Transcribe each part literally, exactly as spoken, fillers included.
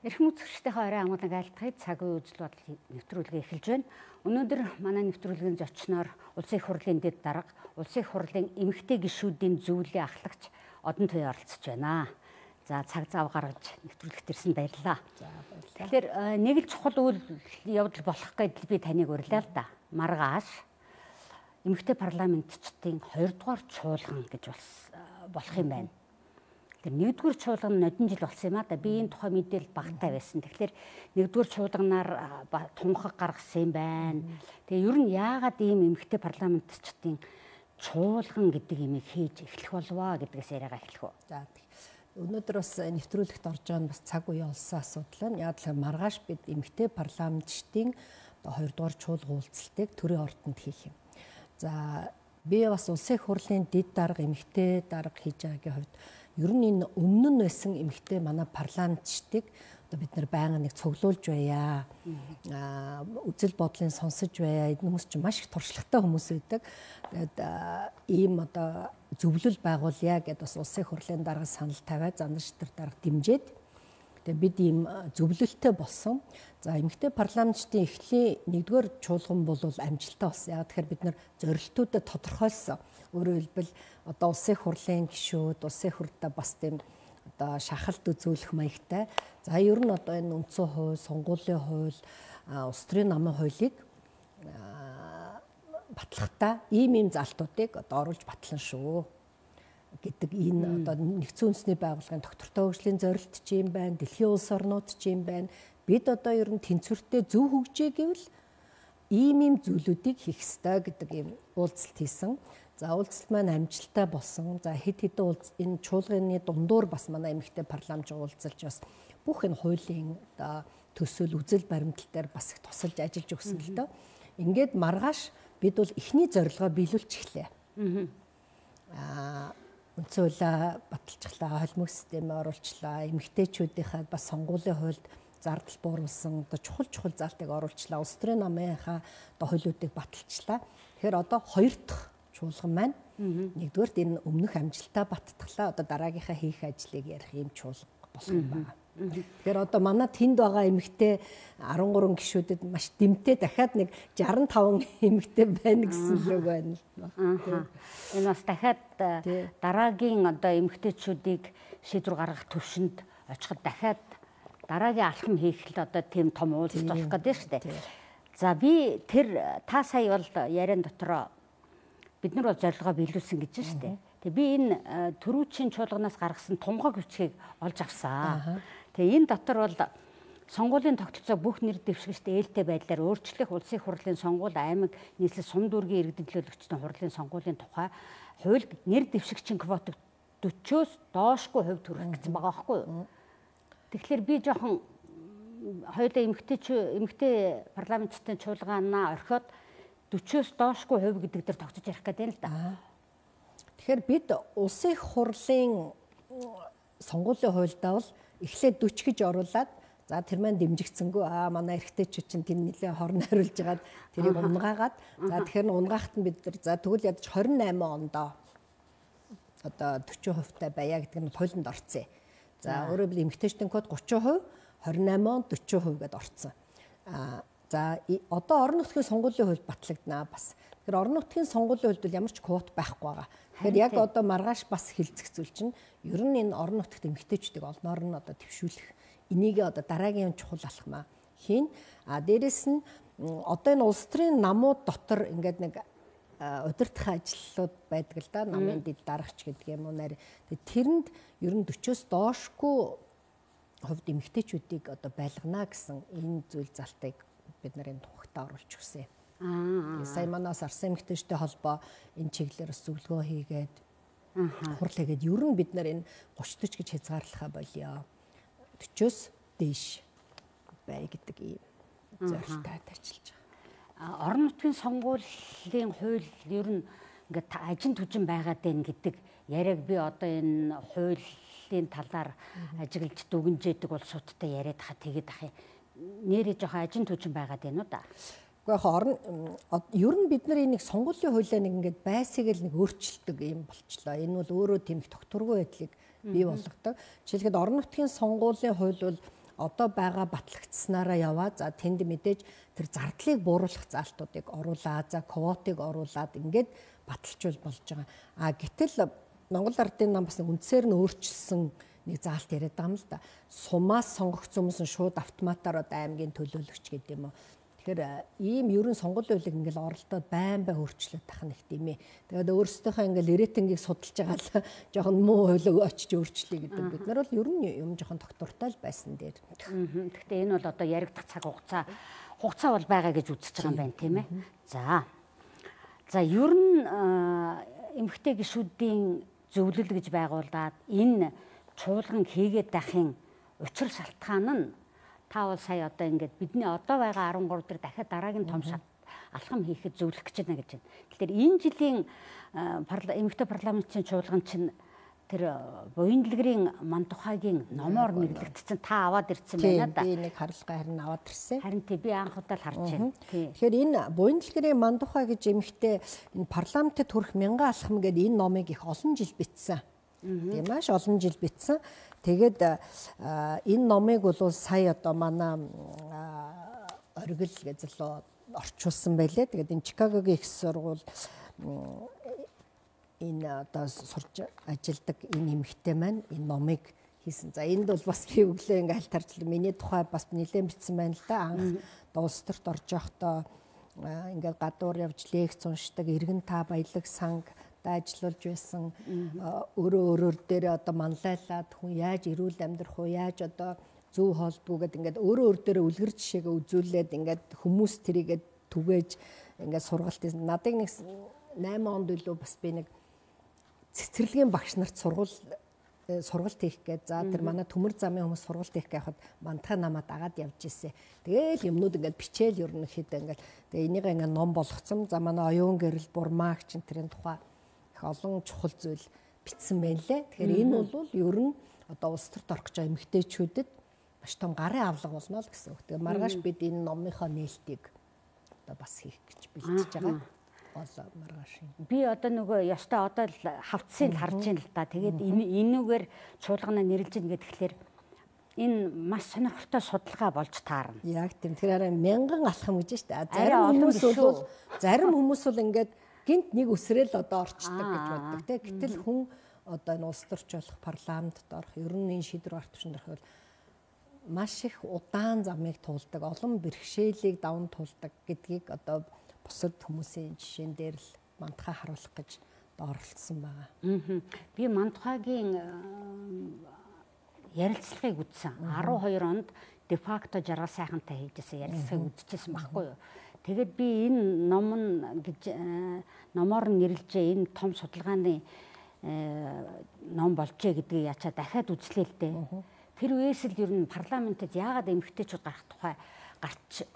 Эрхэм үзэгчдийнхээ орой амгалан айлтгахыг цаг үе үзэл бодол нэвтрүүлгээ эхэлж байна. Өнөөдөр манай нэвтрүүлгийн зочноор Улсын их хурлын дэд дарга, Улсын их хурлын эмэгтэй гишүүдийн зөвлөлийн ахлагч Одон Туяа оролцож байна. За цаг зав гаргаж нэвтрүүлэгт ирсэн баярлалаа. За баярлалаа. Тэгэхээр нэг л чухал үйл явдал болох гэдэл би таныг урилаа л да. Маргааш эмэгтэй парламентчдын хоёрдугаар чуулган гэж болох юм байна. Нэгдүгээр чуулган нь одон жил болсон юм а да. Би энэ тухай мэдээлэл багтаа байсан. Тэгэхээр нэгдүгээр чуулганаар тунхаг гаргасан юм байна. Тэгээ ер нь яагаад ийм эмэгтэй парламентчдын чуулган гэдэг юмыг хийж эхлэх болваа гэдгээс яриагаа эхлэх үү. За өнөөдөр бас нэвтрүүлэгт орж байгаа нь бас цаг үеийн олсон асуудал байна. Яг л маргааш бид эмэгтэй парламентчдын хоёрдугаар чуулган уулзалтыг төрийн ордонд хийх юм. За би бас Улсын их хурлын дэд дарга эмэгтэй дарга хийж байгаагийн хувьд ер нь энэ өмнө нь байсан эмэгтэй манай парламентчдыг одоо бид нар байнга нэг цуглуулж байя. Аа үзэл бодлын сонсож байя. Энэ хүмүүс чинь маш их туршлагатай хүмүүс байдаг. Тэгээд ийм одоо зөвлөл байгуулъя гэдээ бас Улсын их хурлын дарга санал тавиад зандан шитэр дарга дэмжиж тэгээд бид ийм зөвлөлтөй болсон. За эмэгтэй парламентчдын эхлэлийн нэгдүгээр чуулган бол амжилттай болсон. Яг тэгэхээр бид нар зорилтуудад тодорхойлсон. Өөрөөр хэлбэл одоо Улсын их хурлын гишүүд, Улсын их хурлаа бас тийм одоо шахалт үзүүлэх маягтай. За ер нь одоо энэ үндсэн хууль, сонгуулийн хууль, улс төрийн намын хуулийг батлахтаа ийм ийм залтуудыг одоо оруулж батлана шүү гэдэг энэ одоо нэгдсэн үндэсний байгууллагын доктортой хөгжлийн зорилт ч юм байна, дэлхийн улс орнууд ч юм байна. Бид одоо ер нь тэнцвэртэй зөв хөгжээ гэвэл ийм ийм зүйлүүдийг хийх ёстой гэдэг ийм уулзалт хийсэн. За уулзалт маань амжилттай болсон. За хэд хэдэн уулзалт энэ чуулганы дундуур бас манай эмэгтэй парламент уулзалж бас бүх энэ хуулийн одоо төсөөл үзэл баримтал дээр бас их тусалж ажиллаж өгсөн л доо. Ингээд маргааш бид бол эхний зорилгоо биелүүлж эхлэе. Аа үндсэн хуулиа баталчихлаа, холимог системээ оруулчлаа, эмэгтэйчүүдийнхээ бас сонгуулийн хуульд зардал бууруулсан одоо чухал чухал залтыг оруулчлаа. Улс төрийн намынхаа одоо хуулиудыг баталчлаа. Тэгэхээр одоо хоёр дахь чуулган маань нэгдүгээрт энэ өмнөх амжилтаа баттглаа. Одоо дараагийнхаа хийх ажлыг ярих юм чуулга болох юм байна. Тэгэхээр одоо манай тэнд байгаа эмэгтэй арван гурван гишүүдэд маш дэмтэй дахиад нэг жаран таван эмэгтэй байна гэсэн л үг байна. Энэ бас дахиад дараагийн одоо эмэгтэйчүүдийг шийдвэр гаргах төвшөнд очиход дахиад дараагийн алхам хийх л одоо тийм том уулзалт болох гэдэг шүү дээ. За би тэр та сая бол яриан дотроо бид нар бол зорилгоо биелүүлсэн гэж байна шүү дээ. Тэгээ би энэ төрүүчийн чуулганаас гаргасан тунхаг бичгийг олж авсан. Тэгээ энэ дотор бол сонгуулийн тогтолцоо бүх нэр дэвшигчтэй ээлтэй байдлаар өөрчлөх Улсын их хурлын сонгуул аймаг нийслэл сум дүүргийн иргэдлөөлөгчдийн хурлын сонгуулийн тухай хуульд нэр дэвшигчийн квотыг дөрвөөс доошгүй хувь төрөх гэсэн байгаа байхгүй юу? Тэгэхээр би жоохон хоёулаа эмэгтэй эмэгтэй парламентчдын чуулганаа орхиод дөрвөөс доошгүй хувь гэдэг дээр тогтож ярих гэдэг юм л да. Тэгэхээр бид Улсын их хурлын сонгуулийн хуульдаа бол эхлээд дөрвөн гэж оруулаад за тэр маань дэмжигдсэнгүй аа манай эрэгтэйчүүд чинь тэр нэлээ хорн хариулж ягаад тэрийг унгаагаад за тэгэхээр унгаахт нь бид нар за тэгвэл ядаж хорин найман ондоо одоо дөрвөн хувьтай байя гэдэг нь хуулинд орцсон. За өөрөөр хэлбэл эмэгтэйчдийн код гурван хувь, хорин найман он дөрвөн хувь гэдээ орцсон. Аа за одоо орон нутгийн сонгуулийн хууль батлагдана бас. Тэгэхээр орон нутгийн сонгуулийн хуульд ямар ч квот байхгүй байгаа. Тэгэхээр яг одоо маргааш бас хилцэх зүйл чинь ер нь энэ орон нутгт эмэгтэйчүүдийг олноор нь одоо төвшүүлэх энийг одоо дараагийн чухал алхмаа хийн. А дээрэс нь одоо энэ улс төрийн намууд дотор ингээд нэг удирдах ажлууд байдаг л да. Намын дэд даргач гэдэг юм уу нэр. Тэрэнд ер нь дөрвөөс доошгүй хувьд эмэгтэйчүүдийг одоо байлгана гэсэн энэ зүйл залтыг бид нарын тухагтаа оруулж өгсөн юм. Аа. Сая манаас Арсан эмэгтэйчүүдтэй холбоо энэ чиглэлээр бас зөвлөгөө хийгээд хурал хийгээд ер нь бид нар энэ гурван дэх гэж хязгаарлахаа болёо. дөрвөөс дээш бай гэдэг ийм зорилттой ажиллаж байгаа. Орон нутгийн сонгуулийн хууль ер нь ингээд ажин түжин байгаад байна гэдэг яриаг би одоо энэ хуулийн талаар ажиглаж дүгнжээдэг улсуудтай яриад хаа тэгээд ах нэрээ жоохон ажин түжин байгаад байна уу да. Гэхдээ орон ер нь бид нар энийг сонгуулийн хуулиа нэг ингээд байсыг л нэг өөрчилдөг юм болчлоо. Энэ бол өөрөө тийм их тогтворгүй байдлыг бий болгодог. Жишээлбэл орон нутгийн сонгуулийн хууль бол одоо байгаа батлагдсанаараа яваа. За тэнд мэдээж тэр зардлыг бууруулах заалтуудыг оруулаад, за квотыг оруулаад ингээд баталжуул болж байгаа. А гэтэл Монгол Ардын нам бас үндсээр нь өөрчилсөн нэг заалт яриад байгаа юм л да. Сумаас сонгогдсон хүмүүс нь шууд автоматар одоо аймгийн төлөөлөгч гэдэг юм уу. Тэгэхээр ийм ерөн сонгуулийн хуулийг ингээл оролдоод байн бай өөрчлөлт тах нэг тийм ээ. Тэгээд өөрсдийнхөө ингээл рейтингийг судалж байгаа л жоохон муу хуулийг очиж өөрчлөе гэдэг. Бид нар бол ер нь юм жоохон тогтвортой л байсан дээр. Гэхдээ энэ бол одоо яригдах цаг хугацаа хугацаа бол байгаа гэж үзэж байгаа юм байна тийм ээ. За. За ер нь эмэгтэй гишүүдийн зөвлөл гэж байгуулад энэ чуулган хийгээд байхын учир шалтгаан нь та бол сая одоо ингээд бидний одоо байгаа арван гурав дээр дахиад дараагийн том алхам хийхэд зөвлөх гэж байна гэж байна. Тэгэхээр энэ жилийн эмэгтэй парламентын чуулган чинь тэр буян дэлгэрийн Мантухайгийн номоор нэрлэгдсэн та аваад ирсэн байна да. Би нэг харилцаа харин аваад ирсэн. Харин тий би анх удаа л харж байна. Тэгэхээр энэ буян дэлгэрийн Мантухай гэж эмэгтэй энэ парламентэд хүрэх мянган алхам гэдэг энэ номыг их олон жил бичсэн. Тийм маш олон жил бичсэн. Тэгээд энэ номыг бол сая одоо манай оргил гэзлөө орчуулсан байлээ. Тэгээд энэ Чикагогийн их сургууль энэ одоо сурч ажилладаг энэ эмэгтэй маань энэ номыг хийсэн. За энд бол бас би өглөө ингээ хальтарчлаа. Миний тухай бас нэлээд бичсэн байна л да. Анх улс төрт орж явахдаа ингээ гадуур явж лекц уншдаг, иргэн та баялаг санг ажиллуулж байсан өөрөө өөрөөр дээр одоо манлайлаад хүн яаж эрүүл амьдрах уу, яаж одоо зөв хоолдгоо гэдэг ингээд өөрөө өөр дээрээ үлгэр жишээгээ үзүүлээд ингээд хүмүүс тэрийгээ түгээж ингээд сургалт хийсэн. Надыг нэг найман онд үлээ бас би нэг цэцэрлэгийн багш нарт сургууль сургалт хийх гэж за тэр манай төмөр замын хүмүүс сургалт хийх гэхад мантаа намаа дагаад явж ирсэн. Тэгээл юмнууд ингээд бичээл ерөнхийдөө ингээд тэгээ энийг ингээд ном болгоцсон. За манай оюун гэрэл бурмаагч энэ тухай их олон чухал зүйл бичсэн байна лээ. Тэгэхээр энэ бол ер нь одоо улс төрт орох гэж байгаа эмэгтэйчүүдэд маш том гарын авлага болно л гэсэн үг. Тэгээ маргааш бид энэ номынхоо нээлтийг одоо бас хийх гэж бэлтэж байгаа. Гол маргааш. Би одоо нөгөө ёстой одоо л хавцсыг харж байна л да. Тэгээд энүүгээр чуулгана нэрлэж ийн гэхээр энэ маш сонирхолтой судалгаа болж таарна. Яг тийм. Тэгэхээр мянган алхам гэж байна шүү дээ. Зарим хүмүүс бол зарим хүмүүс бол ингээд гинт нэг үсрээл одоо орчдөг гэж боддог тийм. Гэтэл хүн одоо энэ улс төрч болох парламентд орох, ер нь энэ шийдвэр гаргах төвшөнд орох маш их удаан замыг туулдаг, олон бэрхшээлийг даван туулдаг гэдгийг одоо бусад хүмүүсийн жишээн дээр л мандахаа харуулах гэж оролцсон байгаа. Би Мантухайгийн ярилцлагыг үзсэн. арван хоёр онд дефакто жаргал сайхантай хийжсэн ярилцлагыг үзчихсэн байхгүй юу? Тэгээд би энэ ном нь гэж номоор нь нэрлжээ энэ том судалгааны ном болжээ гэдгийг яачаа дахиад үзлээ л дээ. Тэр үеэс л ер нь парламентэд яагаад эмэгтэйчүүд гарах тухай гарч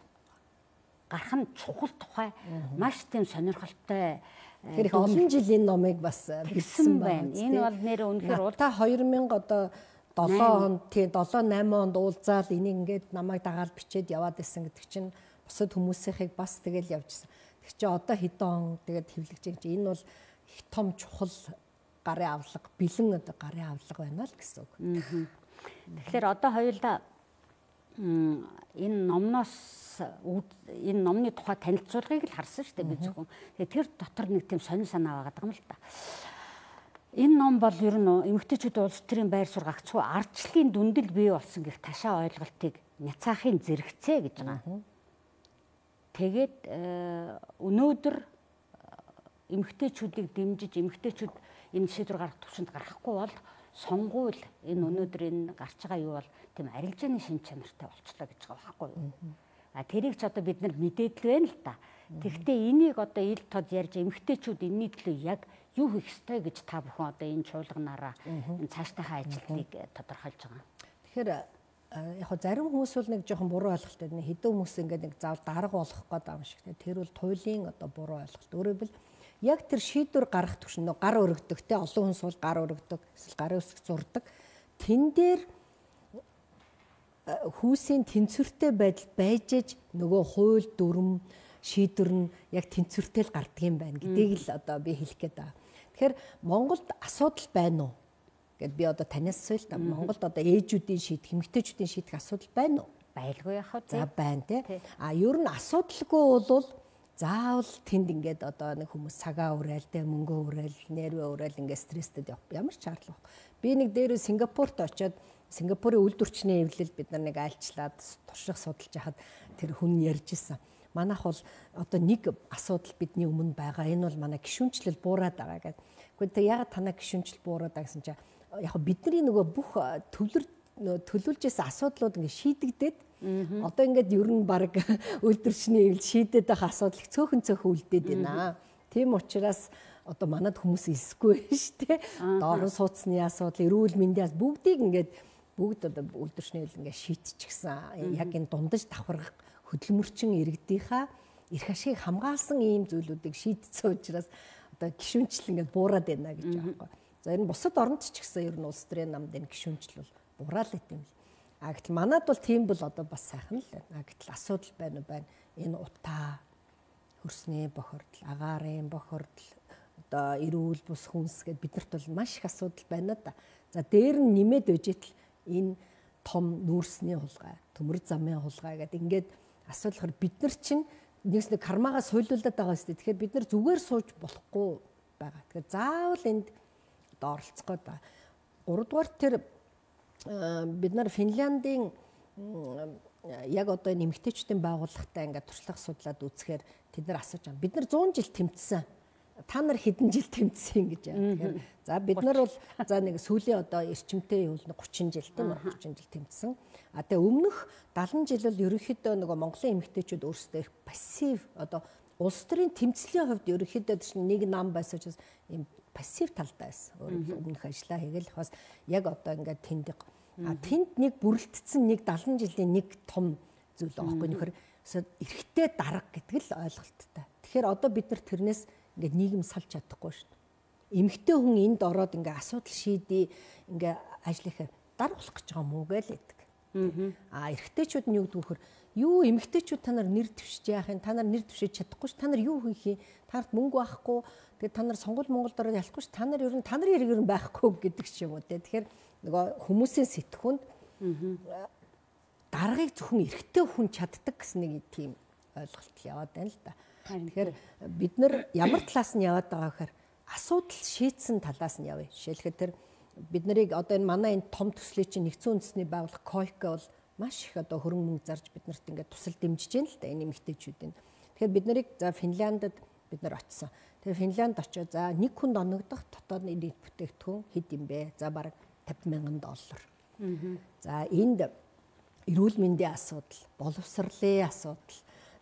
гарах нь чухал тухай маш тийм сонирхолтой. Тэр их олон жил энэ номыг бас бичсэн байна. Энэ бол нэр үнэхээр уул та хоёр мянга одоо долоо онд тий долоо найман онд уулзаад энийг ингээд намайг дагаад бичээд яваад байсан гэдэг чинь бусад хүмүүсийнхийг бас тэгэл явжсэн. Тэг чи одоо хэдэн он тэгээд хэвлэгч гэж энэ бол их том чухал гарын авлага, бэлэн одоо гарын авлага байна л гэсэн үг. Тэгэхээр одоо хоёулаа энэ номноос энэ номны тухай танилцуулгыг л харсан шүү дээ би зөвхөн. Тэгээ тэр дотор нэг тийм сонин санаа байгаа юм л да. Энэ ном бол ер нь эмэгтэйчүүд улс төрийн байр суурь гагцхүү ардчлалын дүндэл бий болсон гэх ташаа ойлголтыг няцаахын зэрэгцээ гэж байгаа. Тэгээд өнөөдөр эмэгтэйчүүдийг дэмжиж эмэгтэйчүүд энэ шийдвэр гаргах төвшөнд гарахгүй бол сонгуул энэ өнөөдөр энэ гарч байгаа юу бол тийм арилжааны шин чанартай болчлоо гэж байгаа байхгүй юу? А тэрийг ч одоо бид нар мэдээд л байна л да. Тэгэхдээ энийг одоо ил тод ярьж эмэгтэйчүүд энэний төлөө яг юу хийх ёстой гэж та бүхэн одоо энэ чуулганаараа энэ цаашдынхаа ажилтныг тодорхойлж байгаа. Тэгэхээр яг хөө зарим хүмүүс бол нэг жоохон буруу ойлголттой нэг хэдэн хүмүүс ингээд нэг заавал дарга болох гэдэг юм шиг. Тэр бол туйлын одоо буруу ойлголт. Өөрөөр хэлбэл яг тэр шийдвэр гаргах төвшин гар өргөдөг те олон хүмүүс бол гар өргөдөг эсвэл гар үсэг зурдаг. Тэн дээр хүүсийн тэнцвэртэй байдал байж аж нөгөө хууль дүрм шийдвэр нь яг тэнцвэртэй л гардаг юм байна гэдгийг л одоо би хэлэх гээд байгаа. Тэгэхээр Монголд асуудал байна уу Гэт би одоо танаас асууя л да. Монголд одоо ээжүүдийн шийдэх, эмэгтэйчүүдийн шийдэх асуудал байна уу? Байлгүй яхав тий. За байна тий. А ер нь асуудалгүй бол заавал тэнд ингээд одоо нэг хүмүүс цагаа урайл, тэ мөнгө урайл, нервээ урайл ингээд стресстэй явах ямар ч шаардлага. Би нэг дээрээ Сингапурт очиод Сингапурын үйлдвэрчний эвлэл бид нар нэг альчлаад турших судалж яхад тэр хүн ярьж исэн. Манайх бол одоо нэг асуудал бидний өмнө байгаа. Энэ бол манай гишүүнчлэл буураад байгаа гэдэг. Гэхдээ ягаад танаа гишүүнчлэл буураад байгаа гэсэн чинь яг бидний нөгөө бүх төвлөр төлөвлөж исэн асуудлууд ингээд шийдэгдээд одоо ингээд ер нь баг үйлдвэрчний эвлэл шийдээд байгаа асуудал цөөхөн цөөхөн үлдээд байна. Тийм учраас одоо манад хүмүүс илсгүй шүү дээ. Доорн суудсны асуудал, эрүүл мэндийн бүгдийг ингээд бүгд одоо үйлдвэрчний эвлэл ингээд шийдчихсэн. Яг энэ дундаж давхаргах хөдөлмөрчин иргэдийнхаа эрх ашиг хамгаалсан ийм зүйлүүдийг шийдсэн учраас одоо гишүүнчлэл ингээд буураад байна гэж байгаа юм. За энэ бусад оронд ч гэсэн ер нь улс төрийн намд энэ гишүүнчлэл бол буураад л юм. А гэтэл манад бол тийм бол одоо бас сайхан л байна. А гэтэл асуудал байна уу байна. Энэ утаа, хөрсний бохирдол, агаарын бохирдол, одоо эрүүл бус хүнс гэд биднэрт бол маш их асуудал байна да. За дээр нь нэмээд үжитл энэ том нүүрсний хулгай, төмөр замын хулгай гэд ингээд асуудал бид нар чинь нэгс нэг кармагаас хуйлуулдаг байгаа шүү дээ. Тэгэхээр бид нар зүгээр сууж болохгүй байгаа. Тэгэхээр заавал энд одоо оролцох гээд байгаа. Гуравдугаар тэр бид нар Финляндийн яг одоо энэ эмэгтэйчүүдийн байгууллагатай ингээд туршлага судлаад үзэхээр тэд нар асууж байгаа. Бид нар зуун жил тэмцсэн. Та нар хэдэн жил тэмцсэн гэж байна. Тэгэхээр за бид нар бол за нэг сүүлийн одоо эрчимтэй юу нэг гучин жил тийм үү гучин жил тэмцсэн. А тэгээ өмнөх дагалан жил бол ерөнхийдөө нөгөө Монголын эмэгтэйчүүд өөрсдөө их пассив одоо улс төрийн тэмцлийн хувьд ерөнхийдөө чинь нэг нам байсан учраас ийм пассив талдаа байсан. Өмнөх ажиллаа хийгээл бас яг одоо ингээд тэнд а тэнд нэг бүрэлдсэн нэг дагалан жилийн нэг том зүйл аахгүй нөхөр эрэгтэй дарга гэдэг л ойлголттой. Тэгэхээр одоо бид нар тэрнээс ингээд нийгэм салж чадахгүй шүү дээ. Эмэгтэй хүн энд ороод ингээд асуудал шийдээ ингээд ажиллахаар дарга болох гэж байгаа мүү гээл гэдэг. А эрэгтэйчүүд нь юу гэдэг вөхөр юу эмэгтэйчүүд та нар нэр дэвшиж яах юм та нар нэр дэвшиж чадахгүй ш та нар юу хийх юм таарт мөнгө байхгүй тэгээд та нар сонгол Монгол дороо ялахгүй ш та нар ер нь та нарын хэрэг ер нь байхгүй гэдэг ч юм уу те. Тэгэхээр нөгөө хүмүүсийн сэтгхэнд даргыг зөвхөн эрэгтэй хүн чаддаг гэсэн нэг тийм ойлголт яваад байна л да. Тэгэхээр бид нар ямар талаас нь яваад байгаа гэхээр асуудал шийдсэн талаас нь явъя. Жишээлбэл тэр бид нарыг одоо энэ манай энэ том төслийн чинь нэгдсэн үндэсний байгууллага койка бол маш их одоо хөрөнгө мөнгө зарж биднэрт ингээд тусал дэмжиж байна л да энэ эмэгтэйчүүдийн. Тэгэхээр бид нарыг за Финляндд бид нар очсон. Тэгээ Финлянд очоо за нэг хүнд оногдох дотоодны нийт бүтээгдэхүүн хэд юм бэ? За бараг тавьсан мянган доллар. За энд эрүүл мэндийн асуудал, боловсролын асуудал,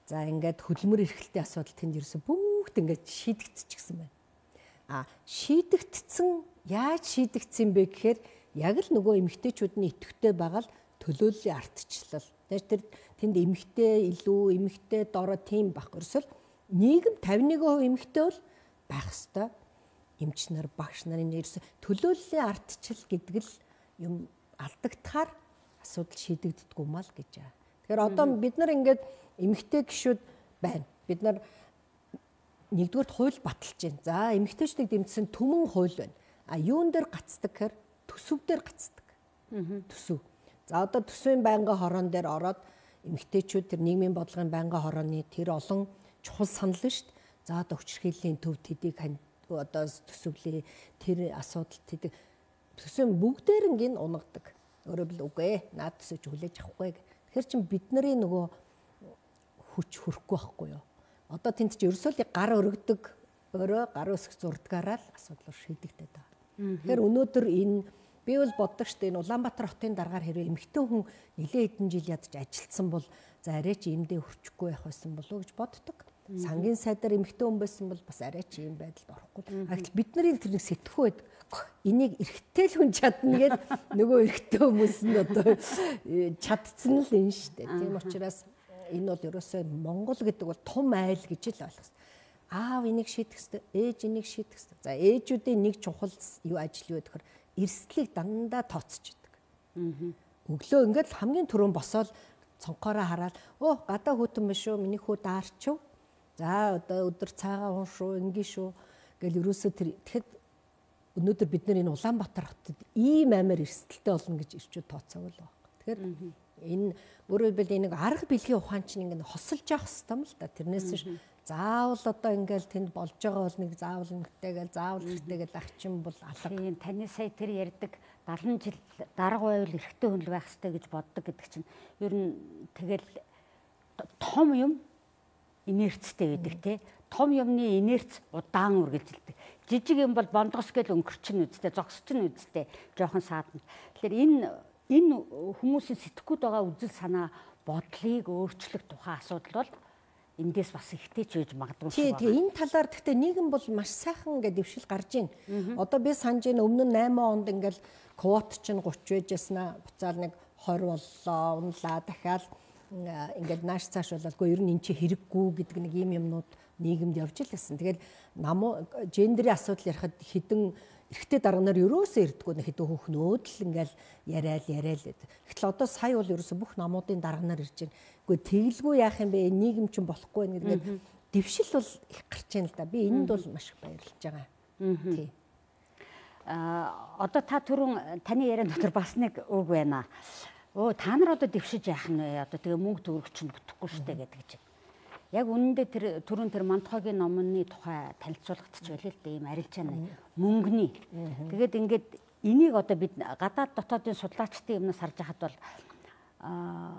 за ингээд хөдөлмөр эрхлэлтийн асуудал тэнд ерөөсө бүгд ингээд шийдэгдчихсэн байна. А шийдэгдсэн яаж шийдэгдсэн бэ гэхээр яг л нөгөө эмэгтэйчүүдний идэвхтэй байгаа л төлөөллийн ардчлал. Тэр тэнд эмэгтэй илүү эмэгтэй дороо тийм байхгүй. Ерөөсөл нийгэм тавьсан процент эмэгтэй бол байх ёстой. Эмч нар, багш нарын ерөөсө төлөөллийн ардчил гэдэг л юм алдагдахаар асуудал шийдэгддэггүй мал гэж байгаа. Тэгэхээр одоо бид нар ингээд эмэгтэй гишүүд байна. Бид нар нэгдүгээр хууль баталж байна. За эмэгтэйчдийг дэмжсэн түмэн хууль байна. А юун дээр гацдаг гэхээр төсөв дээр гацдаг. Төсөв. За одоо төсвийн байнгын хорон дээр ороод эмэгтэйчүүд тэр нийгмийн бодлогын байнгын хорооны тэр олон чухал санал нь шүү дээ. За одоо хүчирхийллийн төв тэдийг одоо төсөвлөө тэр асуудал тэдэг төсвийн бүгдээрнг нь унагадаг. Өөрөөр хэл үгүй ээ. Наад төсөж хүлээж авахгүй. Тэгэхээр чин бидний нөгөө хүч хөрөхгүй байхгүй юу? Одоо тэнд чи ерөөсөө гар өргөдөг өөрөө гар өсөх зурдгаараа л асуудал шийдэгдээд байгаа. Тэгэхээр өнөөдөр энэ би бол боддог штэ энэ Улаанбаатар хотын дараагаар хэрэг эмэгтэй хүн нэлээд хэдэн жил ядаж ажилтсан бол за арай ч иймдээ хөрчихгүй байх байсан болов уу гэж боддог. Сангийн сайдаар эмэгтэй хүн байсан бол бас арай ч ийм байдалд орохгүй. Гэтэл бид нарын тэр нэг сэтгхүү байдаг. Энийг эрэгтэй л хүн чадна гэд нөгөө эрэгтэй хүмүүс нь одоо чадцсан л энэ штэ. Тийм учраас энэ бол ерөөсөө Монгол гэдэг бол том айл гэж л ойлгох. Аав энийг шийдэх ёстой, ээж энийг шийдэх ёстой. За ээжүүдийн нэг чухал юу ажил юу гэхээр эрсдлийг дандаа тооцож идэг. Өглөө ингээд хамгийн түрүүн босоод цонхоороо хараад оо гадаа хүүтэн биш шүү, миний хүү даарчв. За одоо өдөр цаагаа уун шүү, ингийн шүү гэл ерөөсөө тэр тэгэхэд өнөөдөр бид нар энэ Улаанбаатар хотод ийм амар эрсдэлтэй болно гэж ирчүүд тооцоог л байна. Тэгэхээр энэ өөрөөр хэлбэл энэ арга билгийн ухаан чинь ингэ хосолж явах хэрэгтэй юм л да. Тэрнээс нь заавал одоо ингээл тэнд болж байгаа бол нэг заавал нэгтэйгээл заавал эртэйгээл ах чинь бол алга. Тийм таны сая тэр ярьдаг галан жил дарга байвал эрэгтэй хүн л байх хэрэгтэй гэж боддог гэдэг чинь ер нь тэгэл том юм инерцтэй байдаг тий. Том юмны инерц удаан үргэлжилдэг. Жижиг юм бол бондгос гэл өнгөрчин үсттэй, зогсчин үсттэй жоохон саадна. Тэгэхээр энэ энэ хүмүүсийн сэтгхүүд байгаа үзэл санаа бодлыг өөрчлөх тухай асуудал бол эндээс бас ихтэй ч үж магадгүй шүү. Тэгээ энэ талаар гэхдээ нийгэм бол маш сайхан ингээд дэвшил гарч ийн. Одоо би санаж байна өмнө нь найман онд ингээл квот чинь гурван байж яснаа буцаал нэг хорь боллоо, унлаа дахиад ингээд нааш цааш бололгүй ер нь эн чи хэрэггүй гэдэг нэг ийм юмнууд нийгэмд явж л байсан. Тэгэл нам гендерийн асуудал ярихад хідэн эрэгтэй дарга нар ерөөсөө ирдэггүй нэг хэдэн хүүхнүүд л ингээл яриад яриад л. Гэтэл одоо сая бол ерөөсөө бүх намуудын дарга нар ирж байна. Гэхдээ тэгэлгүй яах юм бэ? Нийгэм чинь болохгүй байна гэдэг дэвшил бол их гарч байна л да. Би энэнд бол маш их баярлж байгаа. Тий. Аа одоо та түрүүн таны яриан дотор бас нэг үг байна. Оо та нар одоо дэвшиж яах нь вэ? Одоо тэгээ мөнгө төгрөг чинь бүтэхгүй шүү дээ гэдэг чинь. Яг үнэндээ тэр түрүүн тэр Мантхогийн номны тухай танилцуулгадч байлээ л дээ ийм арилжаана мөнгөний. Тэгээд ингээд энийг одоо бид гадаад дотоодын судлаачдын юмнаас харж байхад бол аа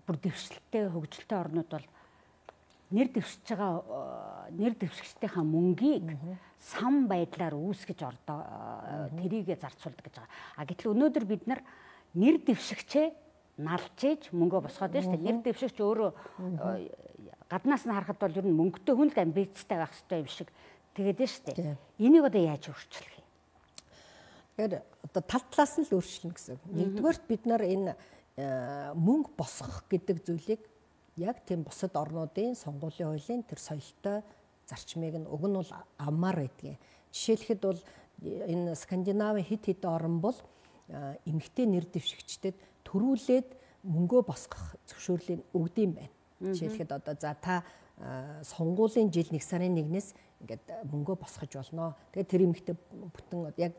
бүр дэвшилттэй хөгжилтэй орнууд бол нэр дэвшиж байгаа нэр дэвшигчдийнхаа мөнгийг сан байдлаар үүсгэж ордоо тэрийгэ зарцуулдаг гэж байгаа. А гэтэл өнөөдөр бид нар нэр дэвшигчээ налж ээж мөнгөө босгоод байна шүү дээ. Нэр дэвшигч өөрөө гаднаас нь харахад бол ер нь мөнгөтэй хүн л амбицтай байх хэрэгтэй юм шиг тэгээд нь шүү дээ. Энийг одоо яаж өөрчлөх юм? Тэгэхээр одоо тал талаас нь л өөрчлөнө гэсэн. Нэгдүгээрт бид нар энэ мөнгө босгох гэдэг зүйлийг яг тийм бусад орнуудын сонгуулийн хуулийн тэр соёлтой зарчмыг нь уг нь бол аммаар байдгийг. Жишээлхэд бол энэ Скандинавын хэд хэдэн орн бол эмэгтэй нэр дэвшигчдэд төрүүлээд мөнгөө босгох зөвшөөрлийг өгдөм байна. Жишээлхэд одоо за та сонгуулийн жил нэг сарын нэгнээс ингээд мөнгөө босгож болно. Тэгээд тэр эмэгтэй бүтэн яг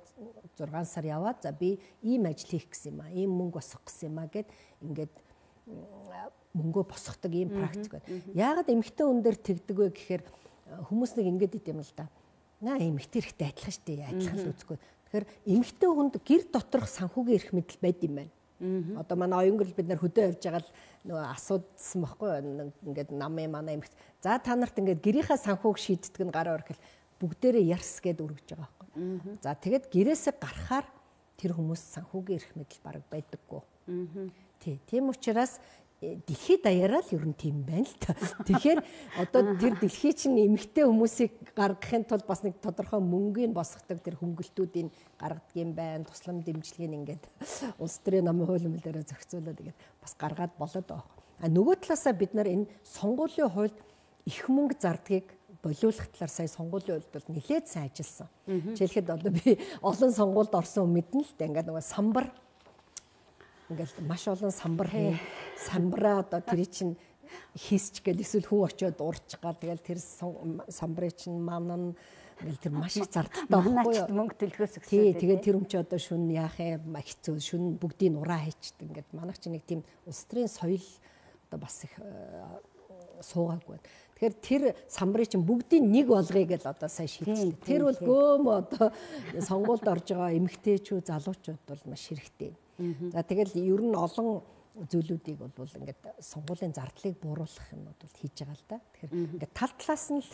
зургаан сар яваад за би ийм ажил хийх гэсэн юм аа, ийм мөнгө босгох гэсэн юм аа гэд ингээд мөнгөө босгодог ийм практик байна. Яагаад эмэгтэй хүн дээр тэгдэг вэ гэхээр хүмүүс нэг ингээд идэм л да. Наа эмэгтэй хэрэгтэй адилхан шүү дээ. Адилхан л үзэхгүй. Тэгэхээр эмэгтэй хүнд гэр доторх санхүүгийн эрх мэдэл байд юм байна. Одоо манай оюнгол бид нар хөдөө явж байгаа л нөгөө асуудсан байхгүй ингээд намын манай эмэгт за та нарт ингээд гэрийнхаа санхүүг шийддэг нь гараа орхил бүгдээрээ ярс гэд өргөж байгаа байхгүй. За тэгэд гэрээсээ гарахаар тэр хүмүүс санхүүгийн эрх мэдэл бараг байдаггүй. Тий, тийм учраас дэлхийд даяараа л ер нь тийм байна л та. Тэгэхээр одоо тэр дэлхий чинь эмэгтэй хүмүүсийг гаргахын тулд бас нэг тодорхой мөнгөний босгодог тэр хөнгөлтүүдийг гаргадаг юм байна. Туслам дэмжлэгийг ингээд улс төрийн намын хуулийн мэлээрээ зохицуулаад тэгээд бас гаргаад болоод байгаа. А нөгөө талаасаа бид нар энэ сонгуулийн хуульд их мөнгө зардгийг болиулах талаар сая сонгуулийн хуульд бол нэлээд сайн ажилласан. Жишээлхэд одоо би олон сонгуульд орсон мэднэ л дээ ингээд нөгөө самбар ингээл маш олон самбар хий самбараа одоо тэр чинь хийсч гэл эсвэл хүн очиод урч гал тэгэл тэр самбарыг чинь манан ингээл тэр маш их зардалтай байхгүй юу мөнгө төлөхөөс гэсэн. Тий тэгээд тэр хүн чи одоо шүн яах юм хэцүү шүн бүгдийг нураа хийчихдээ ингээд манайх чи нэг тийм улс төрийн соёл одоо бас их суугаагүй. Тэгэхээр тэр самбарыг чинь бүгдийг нэг болгоё гэл одоо сайн шийдсэн. Тэр бол гөөм одоо сонгуульд орж байгаа эмэгтэйчүүд залуучууд бол маш хэрэгтэй. За тэгэл ер нь олон зүйлүүдийг бол ингээд сонгуулийн зардлыг бууруулах юмуд бол хийж байгаа л да. Тэгэхээр ингээд тал талаас нь л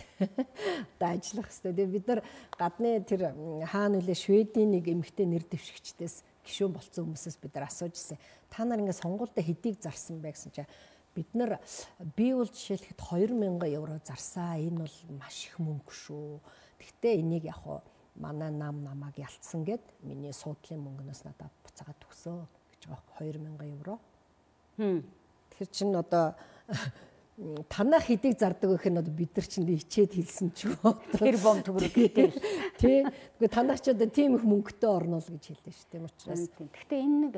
одоо ажиллах хэрэгтэй. Тэгээ бид нар гадны тэр хаана нөлөө Шведийн нэг эмэгтэй нэр дэвшигчдээс гишүүн болцсон хүмүүсээс бид нар асууж ирсэн. Та нар ингээд сонгуультай хэдийг зарсан бэ гэсэн чинь бид нар би бол жишээлхэд хоёр мянган евро зарсаа. Энэ бол маш их мөнгө шүү. Гэхдээ энийг яг хуу манай нам намааг ялцсан гэд миний суудлын мөнгнөөс надад буцаагаад төгсөө гэж байгаа хоёр мянган евро. Тэр чинь одоо танах хэдийг зардаг гэх нь одоо бид нар чинь ичээд хэлсэн ч юм. Тэр бом төгрөг гэдэг. Тий. Гэхдээ танах ч одоо тийм их мөнгөтэй орно л гэж хэлдэг шүү. Тийм учраас. Гэхдээ энэ нэг